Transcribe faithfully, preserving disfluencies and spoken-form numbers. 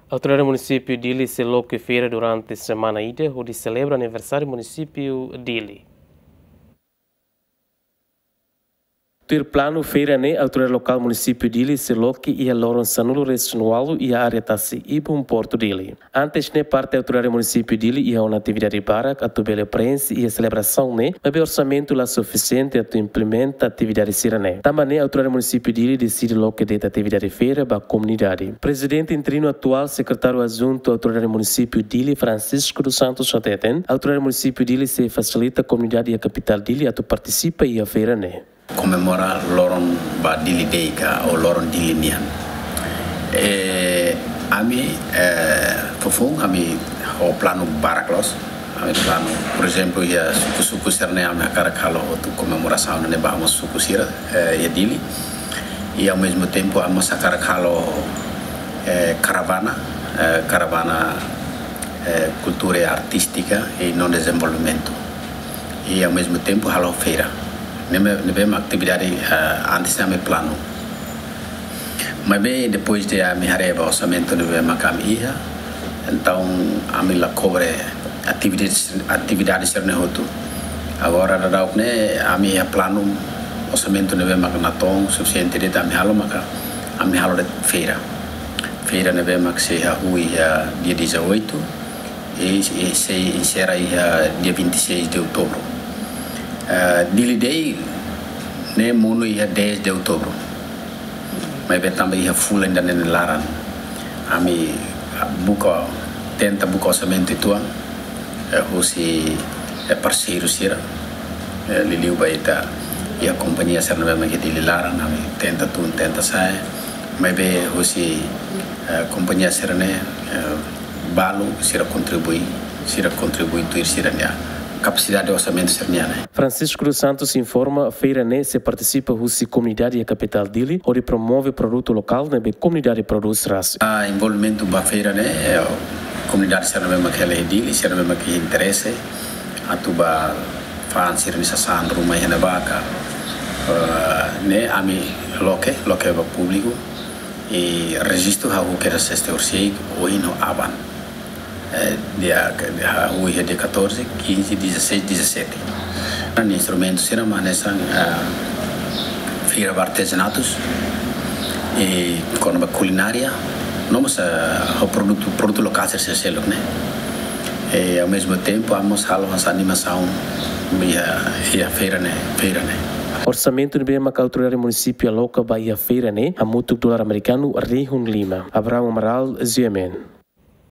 Autoridade Munisípiu Dili sei loke feira durante semana ida hodi selebra aniversáriu Munisípiu Dili. Tuir planu, feira ne'e autoridade lokál Munisípiu Dili sei loke iha loron sanulu-resin-ualu iha área Tasi Ibun, Portu Dili. Antes ne'e, parte autoridade Munisípiu Dili iha ona atividade barak atu bele preenxe iha selebrasaun ne'e, maibé orsamentu la sufisiente atu implementa atividade sira-ne'e. Tanba ne'e, autoridade Munisípiu Dili deside loke de'it atividade feira ba komunidade. Prezidente interinu atuál, Sekretáriu Adjuntu Autoridade Munisípiu Dili, Francisco dos Santos, hateten, autoridade Munisípiu Dili sei fasilita komunidade iha kapitál Dili atu partisipa iha feira ne'e. Komemora loron ba Dili Day ka, ou loron Dili nian. Eh, ami, eh, foufoun ami ho planu barak loos. Ami planu, por ezemplu, iha suku-suku sira-ne'e ami hakarak halo hotu komemorasaun ne'e ba mós suku sira, eh, iha Dili. I ao mesmo tempo ami mós hakarak halo, eh, karavana, eh, karavana, eh, kultura i artístika i no dezenvolvimentu. I ao mesmo tempo halo feira. Ne'ebé, ne'ebé mak atividade, eh, antes ami planu. Maibé depois de ami haree ba orsamentu ne'ebé mak ami iha, entaun ami la kobre atividade, atividade sira-ne'e hotu. Agora daudaun ne'e ami iha planu, orsamentu ne'ebé mak natoon sufisiente de'it ami halo maka ami halo de'it feira. Feira ne'ebé mak sei hahú iha dia dezoito, i, i sei enserra iha dia vinte e seis de outubro. Eh, Dili Day ne'e monu iha dez de outubro. Maibé tanba iha fulan ida-ne'e nia laran, ami buka, tenta buka orsamentu uitoan, eh, husi, eh, parseiru sira, eh, liuliu ba ita iha kompañia sira ne'ebé mak iha Dili laran, ami tenta tun, tenta sa'e. Maibé husi, eh, kompañia sira-ne'e, eh, balu sira kontribui, sira kontribui tuir sira-nia kapasidade orsamentu sira-nian ne'e. Francisco dos Santos informa, feira ne'e sei partisipa husi komunidade iha kapitál Dili, hodi promove produtu lokál ne'ebé komunidade prodús rasik. Ah, envolvimentu ba feira ne'e, eh, komunidade sira ne'ebé mak hela iha Dili, sira ne'ebé mak iha interese atu bá fa'an sira-nia sasán ruma iha ne'ebá ka, eh, ne'e ami loke, loke ba públiku, i rejistu hahú kedas sesta horisehik, ohin no aban. Eh, dia, dia hahú iha dia catorze, quinze, dezasseis, dezassete. Nia instrumentu sira mak hanesan, eh, feira ba artezanatus, i kona-ba kulinária, no mós, eh, ho produtu, produtu lokál sira seluk ne'e. I ao mesmo tempo, ami mós halo hanesan animasaun iha, iha feira ne'e, feira ne'e. Orsamentu ne'ebé mak autoridade munisípiu aloka ba iha feira ne'e hamutuk dolar amerikanu rihun lima. Abraham Amaral, G M N.